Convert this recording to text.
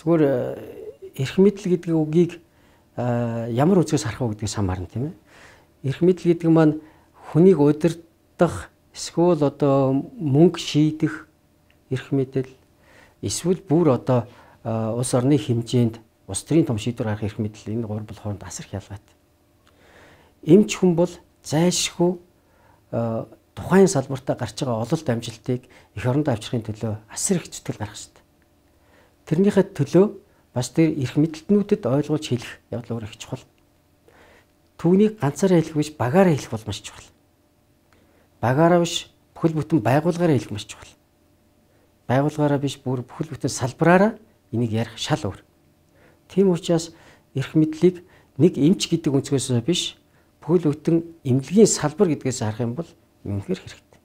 Зүгээр эрх мэдэл гэдэг үгийг ямар үзээс харах вэ гэдгээс хамаарна тийм ээ. Эрх мэдэл гэдэг маань хүнийг удирдах эсвэл одоо мөнгө шийдэх эрх мэдэл эсвэл бүр одоо улс орны хэмжээнд улс төрийн том шийдвэр гаргах эрх мэдэл энэ гурван бол хооронд асар их ялгаатай. Эмч хүн бол зайлшгүй тухайн салбартаа гарч байгаа ололт амжилтыг эх орондоо авчрахын төлөө асар их зүтгэл гаргах хэрэгтэй. Тэрнийхээ төлөө бас тэр эрх мэдэлтнүүдэд ойлгуулж хэлэх явдал өөр их чухал. Түүнийг ганцаараа хэлэх биш багаараа хэлэх бол маш чухал. Багаараа биш бүхэл бүтэн байгууллагаараа хэлэх маш чухал. Байгууллагаараа биш бүр бүхэл бүтэн салбараараа энийг ярих шал өөр. Тийм учраас эрх мэдлийг нэг эмч гэдэг өнцгөөс биш бүхэл бүтэн эмнэлгийн салбар гэдгээс харах юм бол үнэхээр хэрэгтэй.